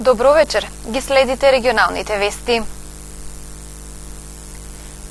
Добро вечер, ги следите регионалните вести.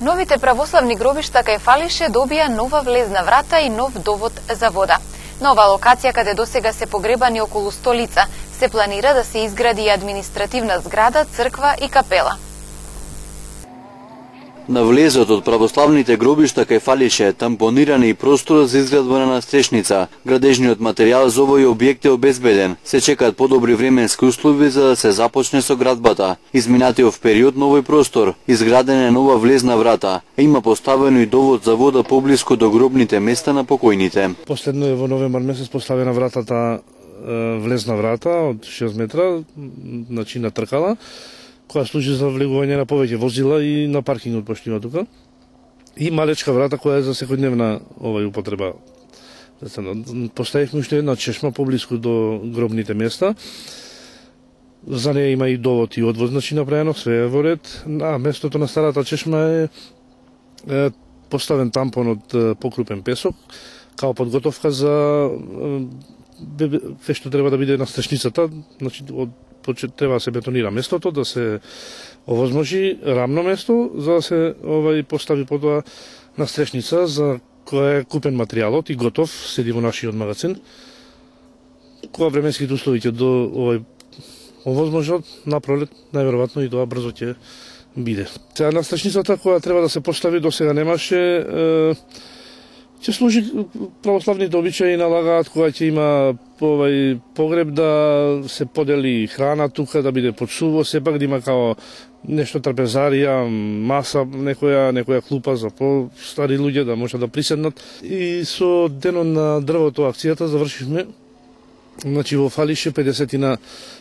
Новите православни гробишта кај Фалише добија нова влезна врата и нов довод за вода. На ова локација, каде досега се погребани околу 100 лица, се планира да се изгради и административна зграда, црква и капела. На влезот од православните гробишта кај Фалише тампониран и простор за изградба на настрешница. Градежниот материјал за овој објект е обезбеден. Се чекаат подобри временски услови за да се започне со градбата. Изминатиот период на овој простор изградена е нова влезна врата. Има поставено и довод за вода поблиску до гробните места на покојните. Последно е во новембар месец поставена вратата, влезна врата од 6 метра, значи на тркала, која служи за влегување на повеќе возила и на паркингот пошто има тука. И малечка врата која е за секојдневна употреба. Поставивме уште една чешма поблиску до гробните места. За неја има и довод и одвоз, значи направено, све е во ред. На местото на старата чешма е поставен тампон од покрупен песок, као подготовка за што треба да биде настрешницата, значи треба да се бетонира местото, да се овозможи рамно место, за да се постави потоа настрешница за која е купен материјалот и готов, седи во нашиот магазин. Кога временските услови ќе до овозможат, напролет, најверојатно и тоа брзо ќе биде. Сега настрешницата која треба да се постави до сега немаше, ќе служи православните обичаи налагаат кога ќе има погреб да се подели храна тука, да биде подсуво, сепак да има као нешто трапезарија, маса, некоја клупа за по-стари луѓе да можат да приседнат. И со денот на дрвото акцијата завршивме, значи во Фалише 50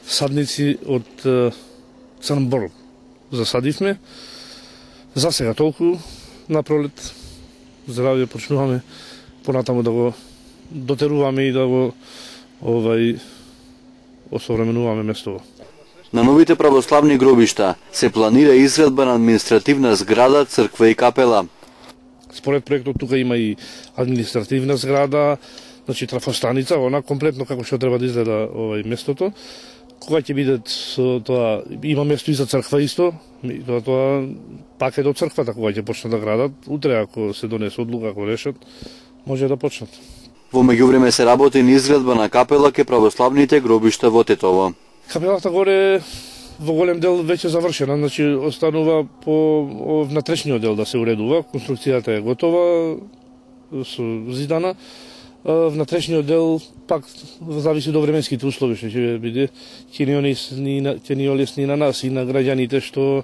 садници од црн бор засадивме. За сега толку, напролет здравје почнуваме понатаму да го дотеруваме и да го осовременуваме местово. На новите православни гробишта се планира изградба на административна зграда, црква и капела. Според проектот тука има и административна зграда, значи трафостаница, она комплетно како што треба да изгледа местото. Кога ќе биде тоа, има место и за црква исто, тоа пак е до црквата кога ќе почнат да градат. Утре ако се донесе одлука, ако решат, може да почнат. Во меѓувреме се работи на изградба на капела кај православните гробишта во Тетово. Капелата горе во голем дел веќе завршена, значи останува по внатрешниот дел да се уредува, конструкцијата е готова, со зидана. Внатрешниот дел пак зависи до временските услови што ќе биде, ќе ни олесни на нас и на граѓаните што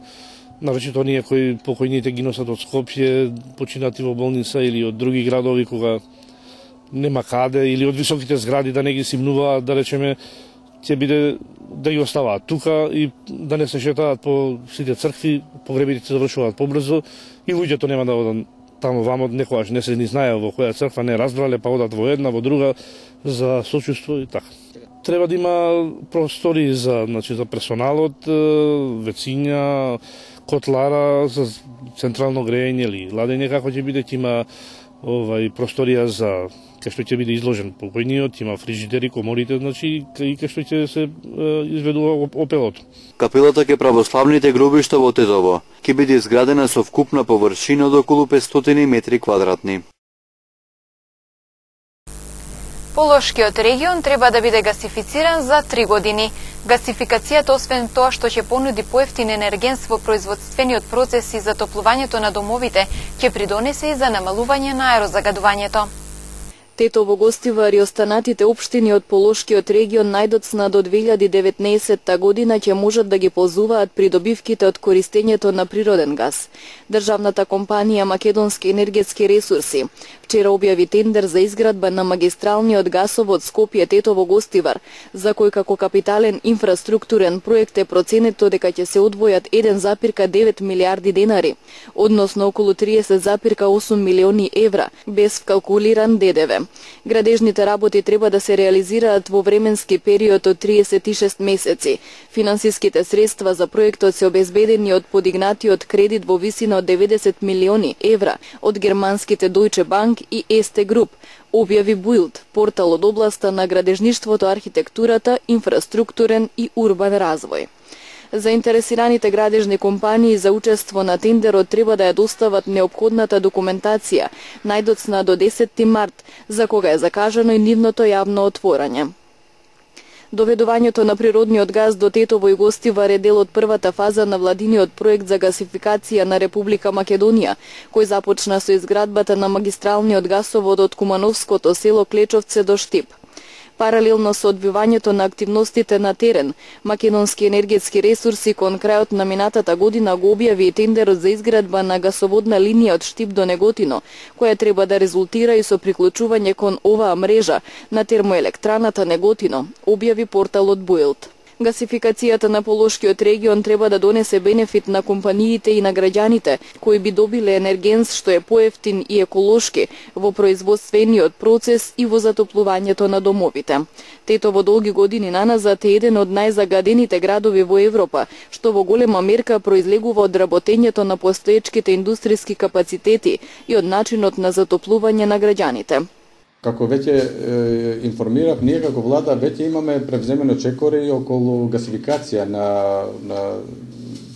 навечето оние кои покојните ги носат од Скопје, починати во болница или од други градови кога нема каде, или од високите згради да не ги симнуваат, да речеме, ќе биде да ги оставаат тука и да не се шетаат по сите цркви, погребите се завршуваат побрзо и луѓето нема да одат таму вамо, некогаш не се ни знае во која црква, не разбрале, па одат во една, во друга, за сочувство и така. Треба да има простори за персоналот, вециња, котлара за централно грејење или ладење, како ќе биде, има просторија за кај што ќе биде изложен покојниот, има фрижидери, коморите, значи и кај што ќе се изведува опелото. Капелата кај православните гробишта во Тетово ќе биде изградена со вкупна површина од околу 500 метри квадратни. Полошкиот регион треба да биде гасифициран за 3 години. Гасификацијата, освен тоа што ќе понуди поевтин енергенс во производствениот процес и затоплувањето на домовите, ќе придонесе и за намалување на аерозагадувањето. Тетово гостива и останатите општини од Полошкиот регион најдоцна до 2019 година ќе можат да ги ползуваат придобивките од користењето на природен газ. Државната компанија Македонски енергетски ресурси вчера објави тендер за изградба на магистралниот гасовод Скопје-Тетово Гостивар, за кој како капитален инфраструктурен проект е проценето дека ќе се одвојат 1,9 милиарди денари, односно околу 30,8 милиони евра, без вкалкулиран ДДВ. Градежните работи треба да се реализираат во временски период од 36 месеци. Финансиските средства за проектот се обезбедени од подигнатиот кредит во висина од 90 милиони евра од германските Deutsche Bank и Erste Group, објави Build, портал од областа на градежништвото, архитектурата, инфраструктурен и урбан развој. Заинтересираните градежни компании за учество на тендерот треба да ја достават неопходната документација најдоцна до 10 март, за кога е закажано и нивното јавно отворање. Доведувањето на природниот газ до Тетово и Гостивар е дел од првата фаза на владиниот проект за гасификација на Република Македонија, кој започна со изградбата на магистралниот гасовод од Кумановското село Клечовце до Штип. Паралелно со одвивањето на активностите на терен, Македонски енергетски ресурси кон крајот на минатата година го објави и тендерот за изградба на гасоводна линија од Штип до Неготино, која треба да резултира и со приклучување кон оваа мрежа на термоелектраната Неготино, објави порталот Build. Гасификацијата на Полошкиот регион треба да донесе бенефит на компаниите и на граѓаните, кои би добиле енергенс што е поевтин и еколошки во производствениот процес и во затоплувањето на домовите. Тетово долги години наназад е еден од најзагадените градови во Европа, што во голема мерка произлегува од работењето на постоечките индустријски капацитети и од начинот на затоплување на граѓаните. Како веќе информирав, ние како влада веќе имаме превземено чекори околу гасификација на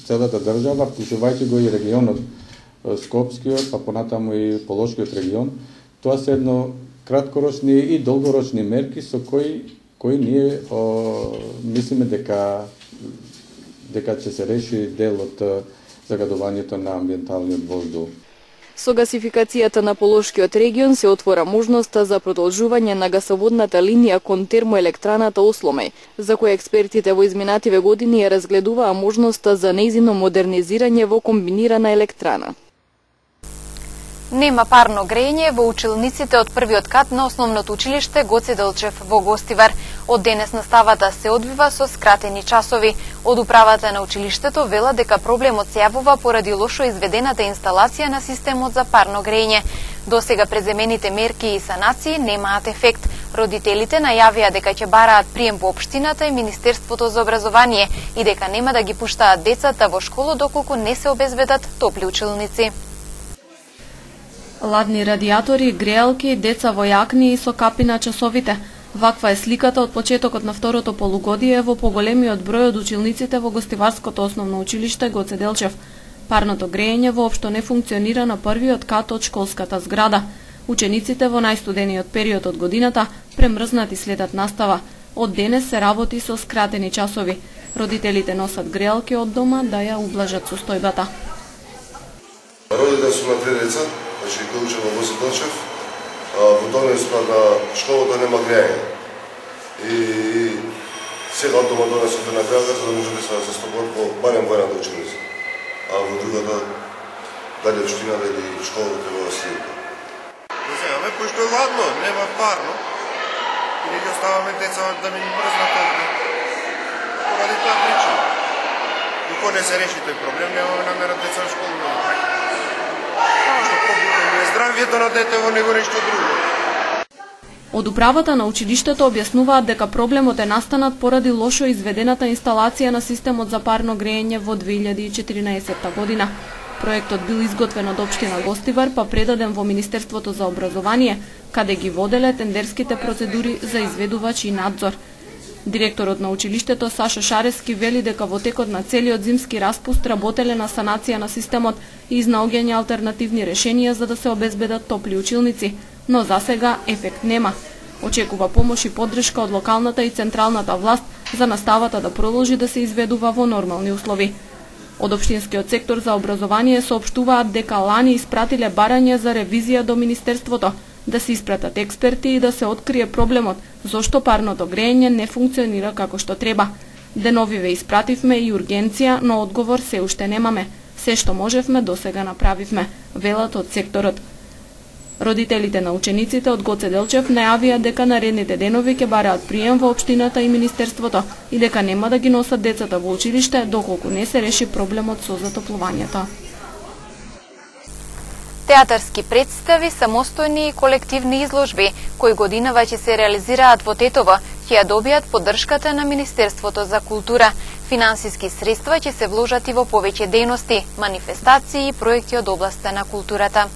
целата држава, вклучувајќи го и регионот Скопскиот, па понатаму и Полошкиот регион. Тоа се едно краткорочни и долгорочни мерки со кои ние мислиме дека ќе се реши дел од загадувањето на амбиенталниот воздух. Со гасификацијата на Полошкиот регион се отвора можноста за продолжување на гасоводната линија кон термоелектраната Осломеј, за која експертите во изминативе години ја разгледуваа можноста за нејзино модернизирање во комбинирана електрана. Нема парно грејење во училниците од првиот кат на основното училиште Гоце Делчев во Гостивар. Од денес наставата се одвива со скратени часови. Од управата на училиштето вела дека проблемот се јавува поради лошо изведената инсталација на системот за парно грејење. Досега преземените мерки и санации немаат ефект. Родителите најавија дека ќе бараат прием во општината и Министерството за образование и дека нема да ги пуштаат децата во школа доколку не се обезбедат топли училници. Ладни радиатори, греалки, деца во јакни и со капи на часовите. Ваква е сликата од почетокот на второто полугодие во поголемиот број од училниците во Гостиварското основно училиште Гоце Делчев. Парното грејење воопшто не функционира на првиот кат од школската зграда. Учениците во најстудениот период од годината премрзнати следат настава. Од денес се работи со скратени часови. Родителите носат греалки од дома да ја ублажат состојбата. Родител сум на 3 деца, значи кој учи во Гоце Делчев. Во донесот на школата нема грејање. И сега од дома донесот на грејалка за да може да се застапат во барем во едната училница. А во другата, дали општината или школата треба да следи. Земаме, пошто е ладно, нема парно. И не ги оставаме деца да не ни мрзнат овде. Поради таа причина. Докато не се реши тој проблем, немаме намера деца во школа да направи. Што проблемот е здравието на детево, него нешто друго. Од управата на училиштето објаснуваат дека проблемот е настанат поради лошо изведената инсталација на системот за парно грејење во 2014 година. Проектот бил изготвен од општина Гостивар, па предаден во Министерството за образование, каде ги воделе тендерските процедури за изведувач и надзор. Директорот на училиштето Сашо Шарески вели дека во текот на целиот зимски распуст работеле на санација на системот и изнаоѓање алтернативни решенија за да се обезбедат топли училници, но засега ефект нема. Очекува помош и поддршка од локалната и централната власт за наставата да продолжи да се изведува во нормални услови. Од општинскиот сектор за образование соопштуваат дека лани испратиле барање за ревизија до Министерството, да се испратат експерти и да се открие проблемот, зошто парното грејење не функционира како што треба. Деновиве испративме и ургенција, но одговор се уште немаме. Се што можевме досега направивме, велат од секторот. Родителите на учениците од Гоце Делчев најавија дека наредните денови ќе бараат прием во општината и Министерството и дека нема да ги носат децата во училиште доколку не се реши проблемот со затоплувањето. Театарски представи, самостојни и колективни изложби, кои годинава ќе се реализираат во Тетово, ќе ја добијат поддршката на Министерството за култура. Финансиски средства ќе се вложат и во повеќе дејности, манифестации и проекти од областа на културата.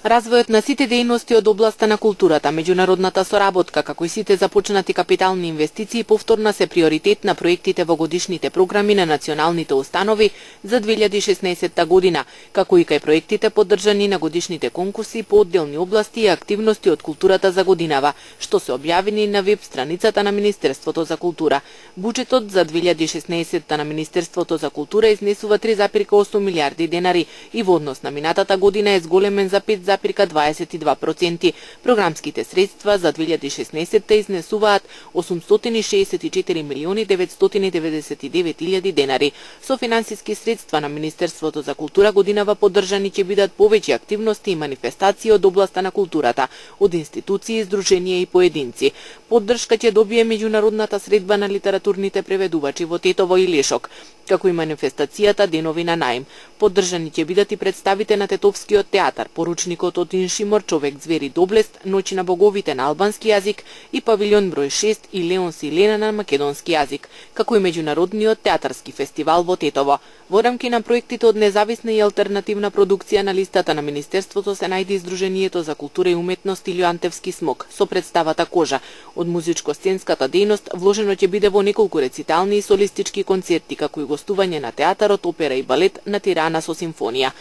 Развојот на сите дејности од областа на културата, меѓународната соработка, како и сите започнати капитални инвестиции повторно се приоритет на проектите во годишните програми на националните установи за 2016 година, како и кај проектите поддржани на годишните конкурси по одделни области и активности од културата за годинава, што се објавени на веб страницата на Министерството за култура. Буџетот за 2016 на Министерството за култура изнесува 3,8 милиарди денари и во однос на минатата година е зголемен за 5,22%. Програмските средства за 2016 изнесуваат 864 милиони 999 илјади денари. Со финансиски средства на Министерството за култура годинава поддржани ќе бидат повеќе активности и манифестации од областа на културата, од институции, здруженија и поединци. Поддршка ќе добие меѓународната средба на литературните преведувачи во Тетово и Лешок, како и манифестацијата Денови на наим. Поддржани ќе бидат и представите на Тетовскиот театар, поручникот од Иншимор, Човек звери Доблест, Ноќи на боговите на албански јазик и павилјон број 6 и Леон Силена на македонски јазик, како и меѓународниот театарски фестивал во Тетово. Во рамки на проектите од независна и алтернативна продукција на листата на Министерството се најде издруженијето за култура и уметност Илјо Антевски смок со представата Кожа. Од музичко-сценската дејност вложено ќе биде во неколку рецитални и солистички концерти, како и гостување на театарот, опера и балет на Тирана со симфонија.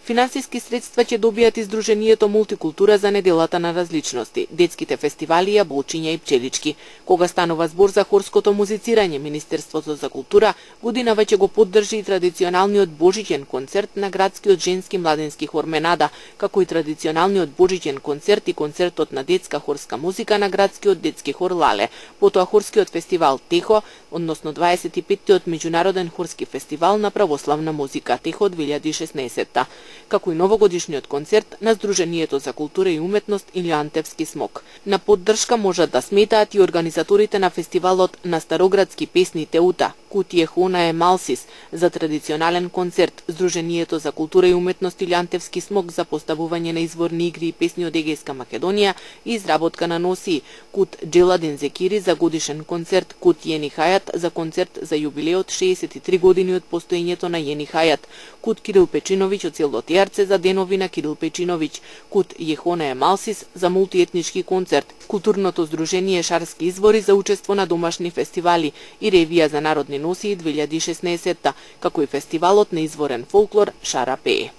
Финансиски средства ќе добијат издруженијето Мултикултура за неделата на различности, детските фестивали, јаболчиња и пчелички. Кога станува збор за хорското музицирање, Министерството за култура годинава ќе го поддржи и традиционалниот божиќен концерт на градскиот женски младински хор Менада, како и традиционалниот божиќен концерт и концертот на детска хорска музика на градскиот детски хор Лале. Потоа хорскиот фестивал Техо, односно 25-тиот меѓународен хорски фестивал на православна музика Техо 2016, како и новогодишниот концерт на Сдруженијето за култура и уметност Илјо Антевски смок. На поддршка можат да сметаат и организаторите на фестивалот на староградски песни Теута, Кутие Хона е Малсис за традиционален концерт, Сдруженијето за култура и уметност Илјо Антевски смок за поставување на изворни игри и песни од Егејска Македонија и изработка на носи, Кут Джеладин Зекири за годишен концерт, Кут Јени Хајат за концерт за јубилеот 63 години од постоењето на Јени Хајат, Кут Кирил Печиновиќ од село Тиарце за денови на Кирил Печиновиќ, Кут Јехона е Малсис за мултиетнички концерт, Културното здружение Шарски извори за учество на домашни фестивали и ревија за народни носии 2016, како и фестивалот на изворен фолклор Шара Пее.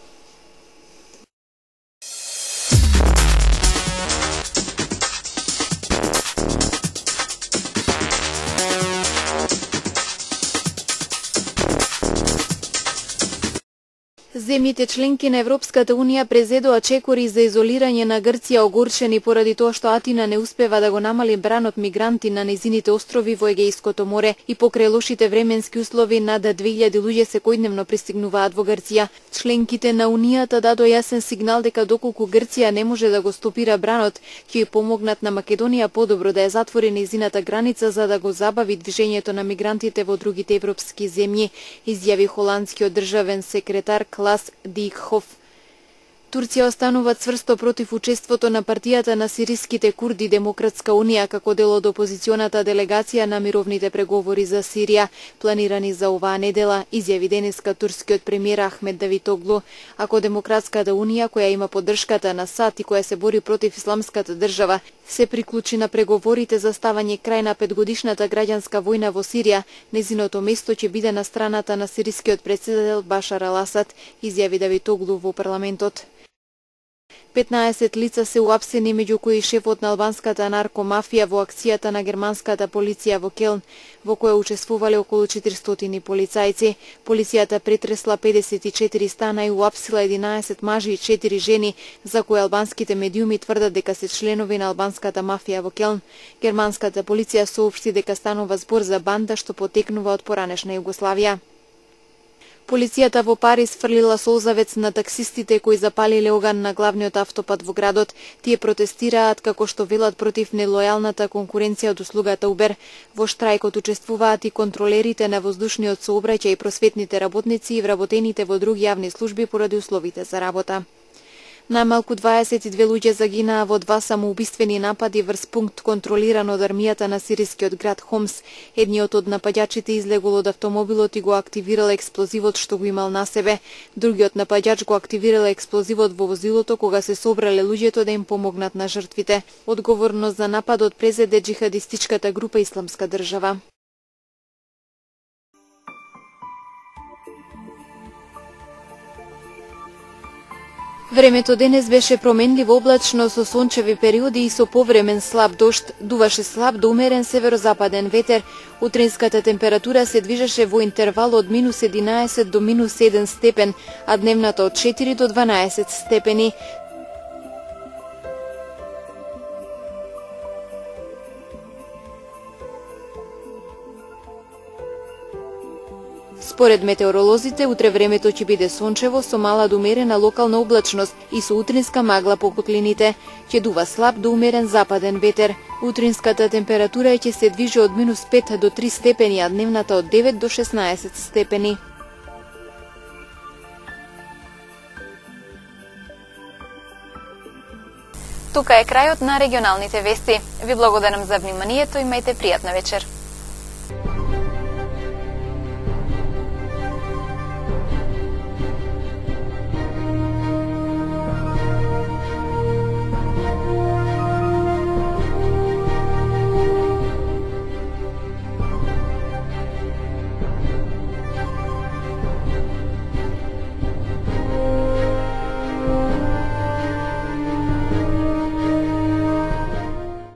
Земјите членки на Европската Унија презедоа чекори за изолирање на Грција огорчени поради тоа што Атина не успева да го намали бранот мигранти на незините острови во Егејското море и покрај лошите временски услови над 2000 луѓе секојдневно пристигнуваат во Грција. Членките на Унијата дадоа јасен сигнал дека доколку Грција не може да го стопира бранот, ќе ја помогнат на Македонија подобро да ја затвори незината граница за да го забави движењето на мигрантите во другите европски земји, изјави холандскиот државен секретар Клас Дикхоф. Турција останува цврсто против учеството на партијата на сириските курди Демократска унија како дел од опозиционата делегација на мировните преговори за Сирија, планирани за оваа недела, изјави денеска турскиот премиер Ахмед Давитоглу. Ако Демократската унија, која има поддршката на САД и која се бори против исламската држава, се приклучи на преговорите за ставање крај на 5-годишната граѓанска војна во Сирија, незиното место ќе биде на страната на сирискиот претседател Башар ал-Асад, изјави Давитоглу во парламентот. 15 лица се уапсени, меѓу кои шефот на албанската наркомафија во акцијата на германската полиција во Келн, во која учествувале околу 400 полицајци. Полицијата претресла 54 стана и уапсила 11 мажи и 4 жени, за кои албанските медиуми тврдат дека се членови на албанската мафија во Келн. Германската полиција соопшти дека станува збор за банда што потекнува од поранешна Југославија. Полицијата во Париз фрлила солзавец на таксистите кои запалиле оган на главниот автопат во градот. Тие протестираат како што велат против нелојалната конкуренција од услугата Uber. Во штрајкот учествуваат и контролерите на воздушниот сообраќај и просветните работници и вработените во други јавни служби поради условите за работа. Најмалку 22 луѓе загинаа во 2 самоубиствени напади врз пункт контролиран од армијата на сирискиот град Хомс. Едниот од напаѓачите излегол од автомобилот и го активирал експлозивот што го имал на себе. Другиот напаѓач го активирал експлозивот во возилото кога се собрале луѓето да им помогнат на жртвите. Одговорност за нападот презеде џихадистичката група Исламска држава. Времето денес беше променливо облачно со сончеви периоди и со повремен слаб дожд, дуваше слаб до умерен северозападен ветер. Утринската температура се движеше во интервал од -11 до -7 степен, а дневната од 4 до 12 степени. Според метеоролозите, утре времето ќе биде сончево со мала до умерена локална облачност и со утринска магла по котлините. Ќе дува слаб до умерен западен ветер. Утринската температура ќе се движи од -5 до 3 степени, а дневната од 9 до 16 степени. Тука е крајот на регионалните вести. Ви благодарам за вниманието и имајте пријатна вечер.